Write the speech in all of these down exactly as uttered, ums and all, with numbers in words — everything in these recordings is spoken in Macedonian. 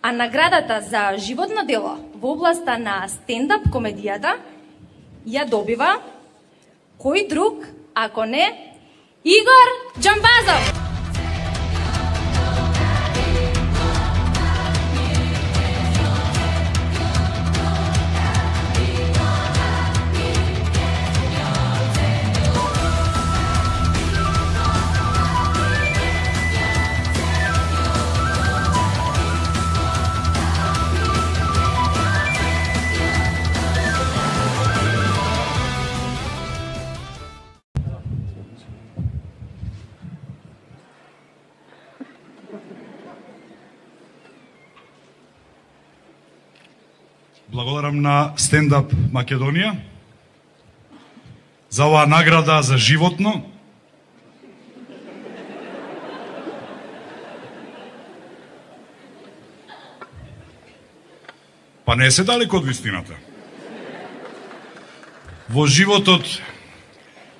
А наградата за животно дело во областа на стендап комедијата ја добива кој друг, ако не Игор Џамбазов. Благодарам на Стендап Македонија за оваа награда за животно. Па не се далеко од вистината. Во животот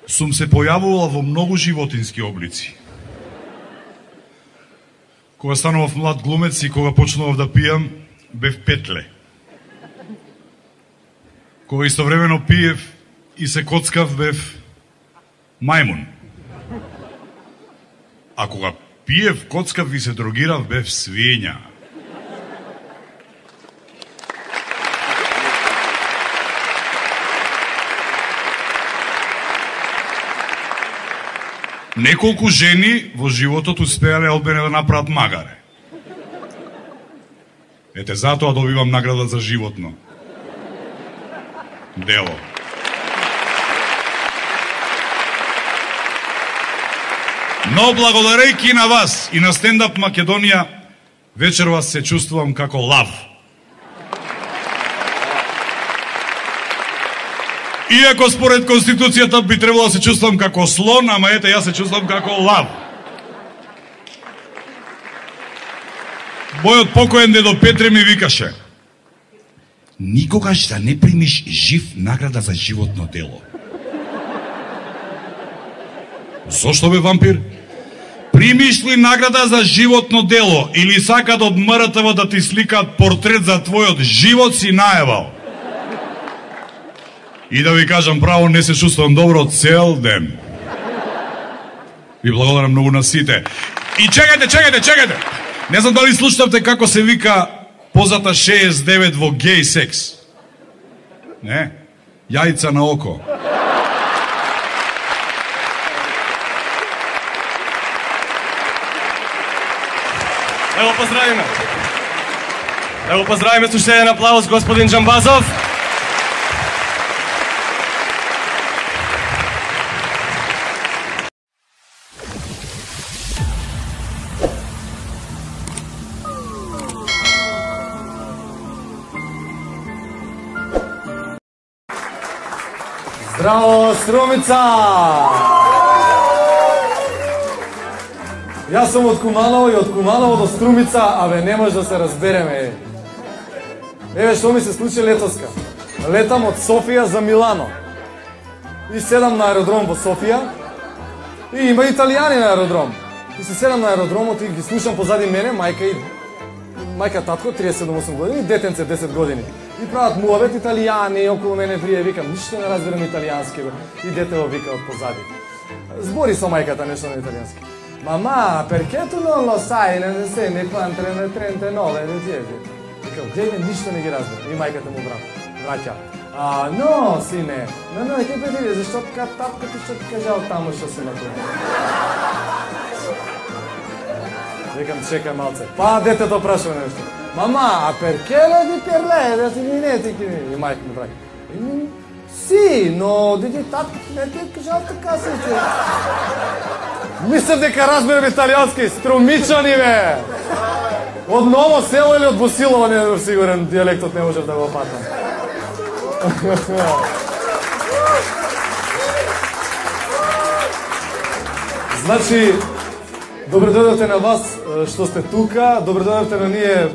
сум се појавувал во многу животински облици. Кога станував млад глумец и кога почнував да пијам, бев петле. Кога истовремено пиев и се коцкав, бев мајмун. А кога пиев, коцкав и се дрогирав, бев свиња. Неколку жени во животот успеале од мене да направат магаре. Ете, затоа добивам награда за животно дело. Но благодарејќи на вас и на Стендап Македонија, вечервас се чувствувам како лав. Иако според Конституцијата би требало да се чувствувам како слон, ама ете, јас се чувствувам како лав. Мојот покоен дедо Петре ми викаше: никогаш да не примиш жив награда за животно дело. Зошто бе, вампир? Примиш ли награда за животно дело или сакат од М Р Т В да ти сликаат портрет за твојот живот, си наевал? И да ви кажам право, не се чувствувам добро цел ден. Ви благодарам многу на сите. И чекајте, чекајте, чекајте! Не знам дали слушнавте како се вика позата шеесет и девет во гей секс. Не? Јајца на око. Да го поздравиме. Да го поздравиме со уште еден аплауз господин Џамбазов. Здраво, Струмица! Јас сум од Куманово и од Куманово до Струмица, абе не може да се разбереме. Еве што ми се случи летоска. Летам од Софија за Милано. И седам на аеродром во Софија. И има италијани на аеродром. И се седам на аеродромот и ги слушам позади мене мајка и мајка татко триесет и седум осум години, детенце десет години. И прават муавет италијани, околу мене врие, викам, ништо не разбирам италијански, бе. И детево вика од позади. Збори со мајката нешто на италијански. Мама, perché tu non lo sai, ne sei ne trentanove, викам, гледај, ништо не ги разбирам. И мајката му враќа. А, но, сине, но, но, ти петири, зашто така тапката што ти кажал таму што се направи? Викам, чекај малце. Па, детето прашува нешто. Мама, a perché lo di per lei? Da ti e Mike mi praga. Sì, no, di так, не ти кажал така се. Мислам дека разберам италијански, Струмичани бе. Од Ново село или од Босилово, не сум сигурен, дијалектот не можев да го опатам. Значи, добре дојдовте на вас што сте тука, добре дојдовте на ние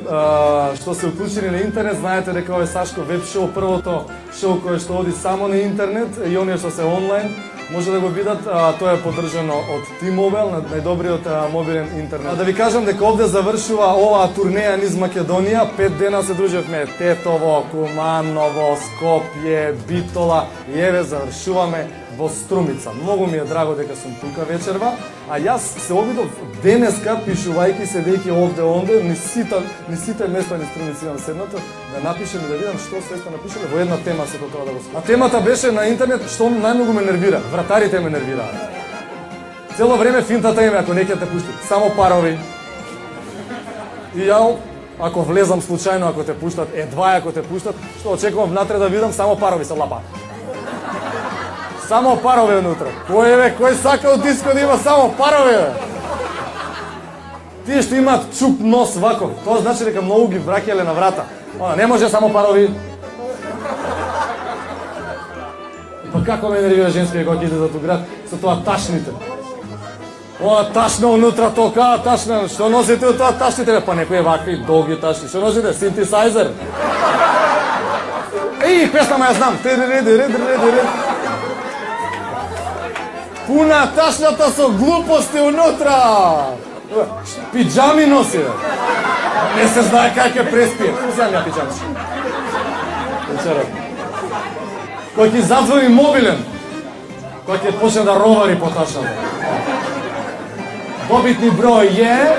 што се уклучени на интернет. Знаете дека ова е Сашко веб шоу, првото шоу кое што оди само на интернет и оние што се онлайн. може да го видат, а, тоа е поддржано од T-Mobile, најдобриот а, мобилен интернет. А да ви кажам дека овде завршува оваа турнеја низ Македонија, пет дена се дружевме Тетово, Куманово, Скопје, Битола и еве завршуваме во Струмица. Многу ми е драго дека сум тука вечерва, а јас се обидов денеска, пишувајќи седејќи овде онде, ни сите, ни сите места ни Струмица имам седнато, да напишем и да видам што се сте напишале во една тема сето тоа да го скажам. А темата беше на интернет што најмногу ме нервира. Вратарите ме нервираат. Цело време финтата им е ако не ќе те пуштат, само парови. И ја ако влезам случајно, ако те пуштат, едва ако те пуштат, што очекувам внатре да видам, само парови се лапаат. Само парови внутре. Кој е, кој сака од диско да има само парови, бе? Тие што имаат чуп нос вако, тоа значи дека многу ги враќале на врата. Она, не може само парови. Па како ме нервира женски кога ќе иде за ту град со тоа ташните. О, ташно внутра тока, ташно. Што носите од тоа ташните, бе? Па некои вакви долги ташни. Што носите? Синтесайзер. Еј, песна ја знам. Пуна ташната со глупости унутра. Пиджами носи, бе. Не се знае как ќе преспие. Узем ја пиджами. Вечерот. Кој ќе зазвони мобилен, кој ќе почне да ровари по ташната. Побитни број е,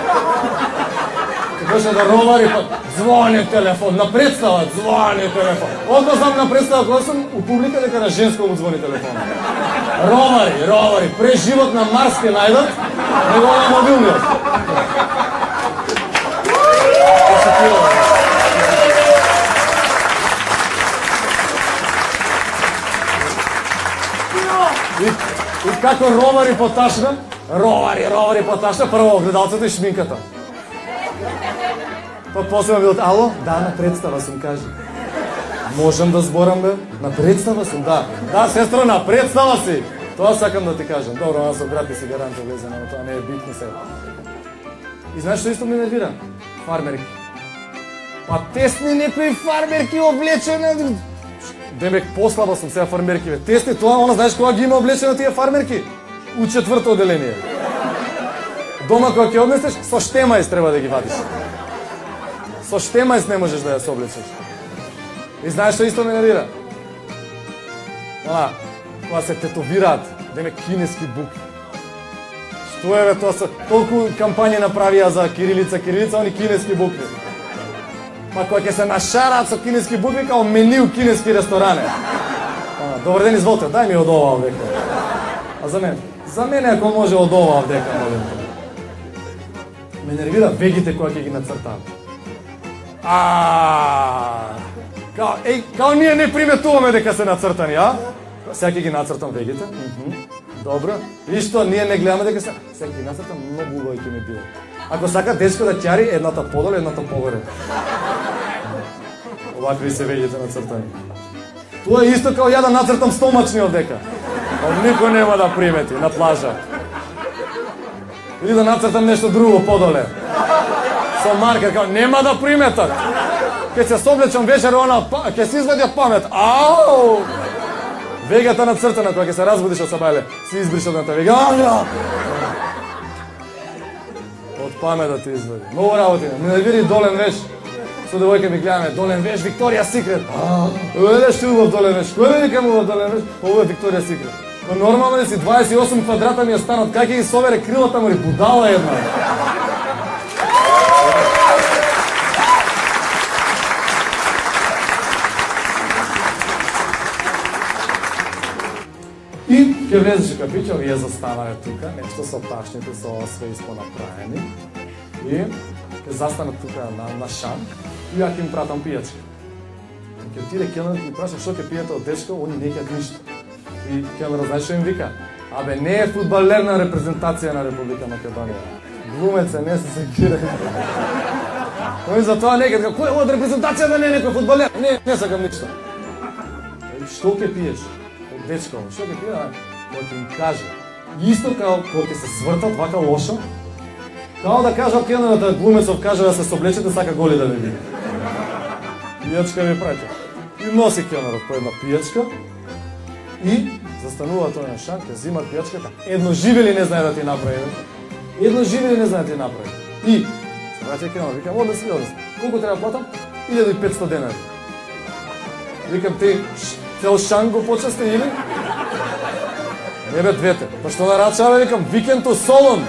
ќе почне да ровари по... Звони телефон, на представа звони телефон. Одно знам на представа кога сум у публика дека на женско му звони телефон. Ровари, ровари, пре живот на Марс ќе најдат, него на мобилниот. И, и како ровари по ташна, ровари, ровари по ташна, прво огледалцето и шминката. Па после било, ало, да, на представа сум, кажи. Можам да зборам, бе? На представа сум, да. Да, сестро, на представа си. Тоа сакам да ти кажам. Добро, аз со брат и си гарант влезе, но тоа не е битно сега. И знаеш што исто ми нервира? Фармерки. Па тесни некои фармерки облечени. Демек послаба сум сега фармерки, бе. Тесни тоа, она знаеш кога ги има облечено тие фармерки? У четврто оделение. Дома кога ќе однесеш, со штемајс треба да ги вадиш. Со штемајс не можеш да ја соблечеш. И знаеш што исто ме нервира? Она, кога се тетовираат, демек кинески букви. Што е, бе, тоа се толку кампањи направија за кирилица, кирилица, они кинески букви. Па кога ќе се нашараат со кинески букви, као меню кинески ресторане. Она, добар ден, изволте, дај ми од ова овдека. А за мене? За мене ако може од ова овдека, молим те. Ме нервира вегите кога ќе ги нацртаат. А, као, еј, као ние не приметуваме дека се нацртани, а? Сега ќе ги нацртам вегите. Добро. И што, ние не гледаме дека се... Сега ќе ги нацртам, многу убави ќе ми биде. Ако сака дечко да ќари, едната подоле, едната погоре. Овакви се вегите нацртани. Тоа е исто као ја да нацртам стомачни овдека. Никој нема да примети на плажа. Или да нацртам нешто друго подоле. Со маркер, као, нема да приметат. Ке се соблечам вечер, она, ке се извадија памет. Ау! Вегата нацртана, кога ке се разбудиш од сабајле, си избриш одната вега. Ау! Од памет да ти извади. Многу работи, не нервири Долен Веш. Со девојка ми гледаме, Долен Веш, Викторија Секрет. Еле што убав Долен Веш. Кој вели кај убав Долен Веш? Ово е Викторија Секрет. Но нормално ли си дваесет и осум квадрата ми е станот, как ќе ги собере крилата му и будала една. И ќе влезеше кафиче, овие застанале тука, нешто со ташните, со све испонаправени. И ќе застанат тука на, на шан и ја ќе им пратам пијачка. Ќе отиде келнерот и ми праша што ќе пиете од дечко, они не ќе ништо. И келнерот знаеш што им вика? Абе, не е фудбалер на репрезентација на Република Македонија. Глумец е, не се секира. Кој за тоа не ќе, кој од репрезентација да не е некој фудбалер? Не, не сакам ништо. Што ќе пиеш? Од дечко, што ќе пие? Кој ќе им каже. Исто као кога ќе се свртат вака лошо, као да кажа келнерот да глумецов каже да се соблечете, сака голи да ви биде. Пијачка ви праќа. И носи келнерот по една пијачка и Застанува тој на шанк, ја зима пијачката. Едно живели не знае да ти направи. Едно живели не знае да ти направи. И се враќа ке вика, оде си, оде си. Колку треба платам? илјада и петстотини денари. Викам, ти цел шанк го почасти или? Не бе, двете. Па што нарачава, викам, викенто солон.